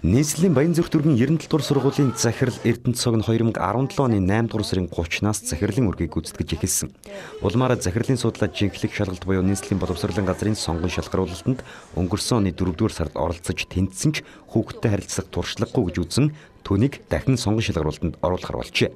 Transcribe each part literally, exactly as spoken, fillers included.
Нийслэлийн Баянзүрх дүүргийн ерөн талбар сургуулийн захирал Эрдэнэ цог нь хоёр мянга арван долоо оны наймдугаар сарын гуравнаас захирлын үргийг гүйцэтгэж эхэлсэн. Улмаараа захирлын судлаа жинхлэх шалгалт буюу нийслэлийн боловсролын газрын сонгон шалгаруулалтанд өнгөрсөн оны дөрөвдүгээр сард оролцож тэнцсэн ч хүүхдтэй харилцах туршлагагүй гэж үзсэн түүнийг дахин сонгон шалгаруулалтанд оруулахар болжээ.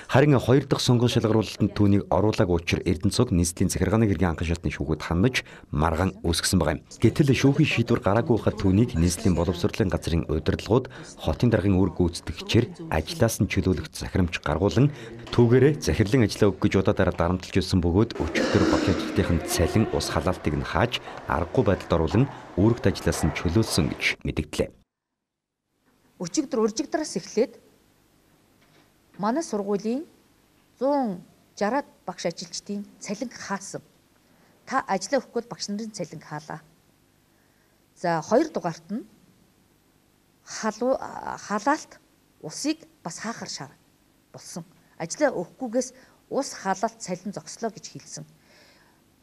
Харин хоёр дахь сонгон шалгаруулалтанд түүнийг оруулаагүй учраас Эрдэнэ цог нийслэлийн захиргааны хэргийн анхан шатны шүүхэд хандаж маргаан үүсгэсэн байгаа юм. Гэтэл шүүхийн шийдвэр гараагүй хахад түүнийг нийслэлийн боловсролын газрын удирдлагууд хотын даргын үр гүйцэтгэгчээр ажлаас нь чөлөөлөх захирамж гаргуулan түүгээрээ захирлын ажлаа өгөх гэж удаадараа дарамтлж ирсэн бөгөөд өчигдөр багш ажилтнын цалин ус халаалтыг нь хааж аргагүй байдалд оруулан үүрэгт ажлаас нь чөлөөлсөн гэж мэдгдлээ. Өчигдөр уржигдраас эхлээд манай сургуулийн зуун жараад багш ажилчдын цалин хаасан. Та ажиллаа өгөхгүй багш нарын цалин хаалаа. За хоёр дугаарт нь халуу халаалт усыг бас хаахар шаар болсон. Ажиллаа өгөхгүйгээс ус халаалт цалин зогслоо гэж хэлсэн.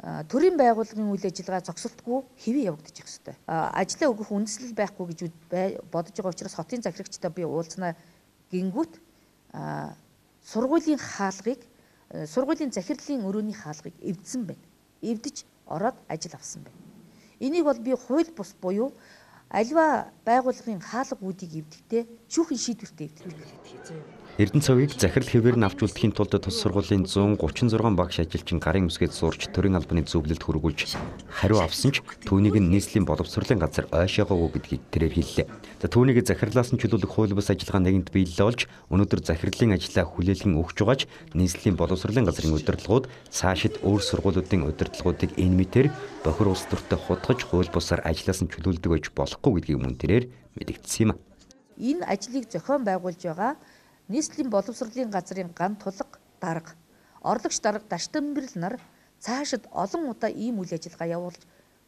Төрийн байгууллагын үйл ажиллагаа зогсолтгүй хэвээ явагдаж их ёстой. Ажиллаа өгөх үндэслэл байхгүй гэж бодож байгаа учраас хотын захирагчтай би уулзнаа гингүүт сургуулийн хаалгыг сургуулийн захирлын өрөөний хаалгыг эвдсэн байна. Эвдэж ороод ажил авсан байна. Энийг бол би хууль бус буюу альва байгууллагын хаалга үүдийг эвдэхдээ шүүхийн шийдвэртэй эвддэг. Эрдэнэ цогийг захирал хэвээр нь авч үлдэхийн тулд тус сургуулийн зуун гучин зургаан багш ажилчин гарын үсгээд сурч төрийн албаны зөвлөлд хүргүүлж хариу авсан ч түүнийг нь нийслэлийн боловсролын газар ойшоогоогүй гэдгийг тэрээр хэллээ. За түүнийг захирлаас нь чөлөөлөх хууль бус ажиллагаа нэгэнт биелэл болж өнөөдөр захирлын ажлаа хүлээлгэн өгч байгаач нийслэлийн боловсролын газрын удирдлагууд цаашид өөр сургуулиудын удирдлагуудыг энэ мэтэр бохир улс төртөд хутгаж хууль бусаар ажлаас нь чөлөөлдөг байж болохгүй гэдгийг мөн тэрээр мэдэгдсэн юм. Энэ ажлыг зохион байгуулж байгаа нийслэлийн боловсролын газрын ган тулга дарга, орлогч дарга Даштанбэрл нар цаашид олон удаа ийм үйл ажиллагаа явуулж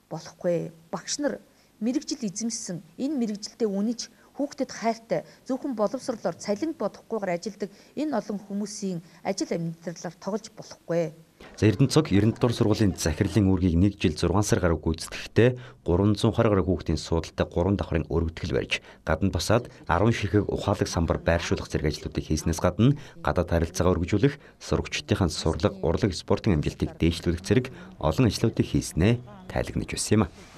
болохгүй. Багш нар мэрэгжил эзэмшсэн энэ мэрэгжилдээ үнэж хүүхдэд хайртай зөвхөн боловсролоор цалинг бодохгүйгээр ажилдаг энэ олон хүмүүсийн ажил амьдралаар тоглож болохгүй. За Эрдэнэ цог ерөн талбар сургуулийн захирлын үүргийг нэг жил зургаан сар гаруй гүйцэтгэхдээ гурван зуун гаруй гаруй хүүхдийн суудалтай гурван давхрын өргөдгөл барьж гадна басаад арван ширхэг ухаалаг самбар байршуулах зэрэг ажлуудыг хийснээс гадна гадаад харилцаагаа өргөжүүлэх, сурагчдын сурлага, урлаг, спортын амжилтыг дээшлүүлэх зэрэг олон ажлуудыг хийснээ тайлагнаж байсан юм а.